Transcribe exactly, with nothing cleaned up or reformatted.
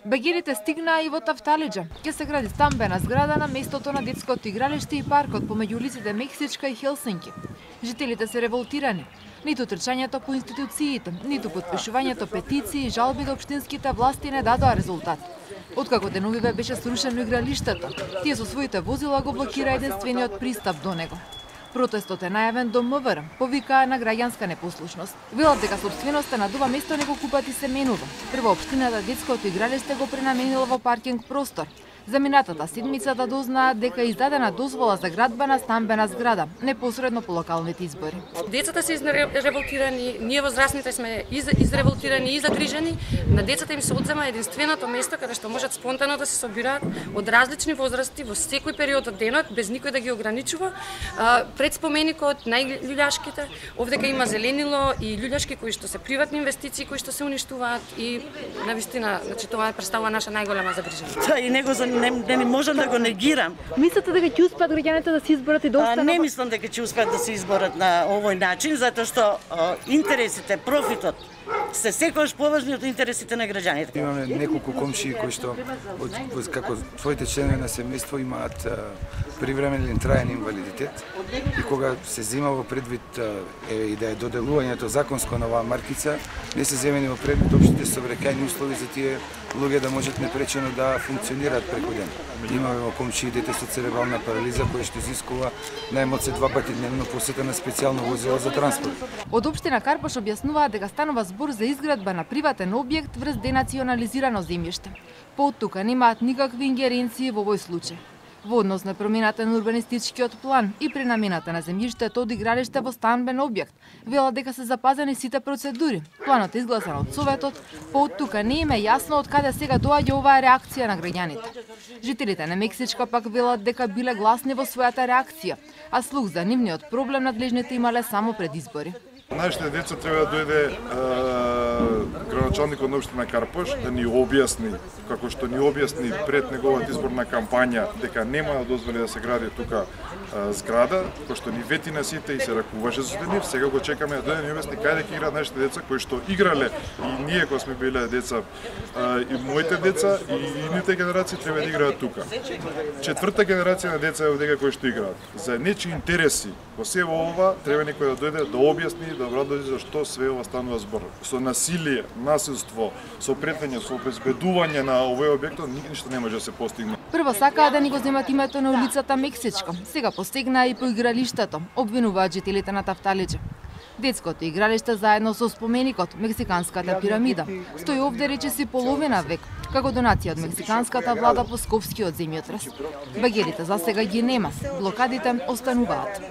Багерите стигнаа и во Тафталиџа. Ќе се гради стамбена зграда на местото на детското игралиште и паркот помеѓу улиците Мексичка и Хелсинки. Жителите се револтирани. Ниту трчањето по институциите, ниту потпишувањето петиции и жалби до општинските власти не дадоа резултат. Откако деновиве беше срушено игралиштето, тие со своите возила го блокира единствениот пристап до него. Протестот е најавен до МВР, повикаа на граѓанска непослушност. Велат дека собственоста на ова место неколку пати се менува. Прво општината детското игралиште го пренаменила во паркинг простор. За минатата седмица да дознаат дека е издадена дозвола за градба на стамбена зграда, непосредно по локалните избори. Децата се изреволтирани, ние возрастните сме из, изреволтирани и загрижени. На децата им се одзема единственото место каде што можат спонтано да се собираат од различни возрасти во секој период од денот, без никој да ги ограничува. Пред споменикот најљуѓашките, овдека има зеленило и љуѓашки кои што се приватни инвестиции кои што се уништуваат и навистина, значи тоа представува наша најголема загриженост. Тоа и него за не, не можам да го негирам. Мислите дека ќе успеат граѓаните да се изборат и да останат? Не мислам дека ќе успеат да се изборат на овој начин, затоа што а, интересите, профитот се секогаш поважни од интересите на граѓаните. Имаме неколку комшии кои што од, како своите членови на семејство имаат а, привремен или траен инвалидитет и кога се зема во предвид а, е, и да е доделувањето законско на оваа маркица, не се земени во предвид општите сообраќајни услови за тие луѓе да можат непречено да функционираат преку ден. Имаме во комшии дете со церебрална парализа кој што изискува најмалку два пати дневно посета на специјално возило за транспорт. Од општина Карпош објаснуваат дека станува збор за изградба на приватен објект врз денационализирано земјиште. По оттука немаат никакви ингеренции во овој случај. Во однос на промената на урбанистичкиот план и пренамената на земјиштето од игралиште во стамбен објект, велат дека се запазени сите процедури. Планот е изгласан од Советот, по оттука не им е јасно од каде сега доаѓа оваа реакција на граѓаните. Жителите на Мексичка пак велат дека биле гласни во својата реакција, а слух за нивниот проблем надлежните имале само пред избори. Нашите деца треба да дојде градоначалникот на општина Карпош да ни објасни, како што ни објасни пред неговата изборна кампања, дека нема да дозволи да се гради тука а, зграда, кој што ни вети на сите и се ракуваше за нив. Сега го чекаме да дојде да ни објасни каде ќе играат нашите деца кои што играле и ние кога сме биле деца, а, и моите деца и идните генерации треба да играат тука. Четврта генерација на деца е овдека кои што играат. За нечии интереси во се ова треба некој да дојде да објасни, да обрадови зашто све ова станува збор. Со насилие, насилство, со претење, со обезбедување на овој објект ништо не може да се постигне. Прво сакаа да ни го земат името на улицата Мексичка, сега постигнаа и по игралиштето, обвинуваат жителите на Тафталиџа. Детското игралиште заедно со споменикот Мексиканската пирамида стои овде речиси половина век, како донација од мексиканската влада по Скопскиот земјотрес. Багерите за сега ги нема, блокадите остануваат.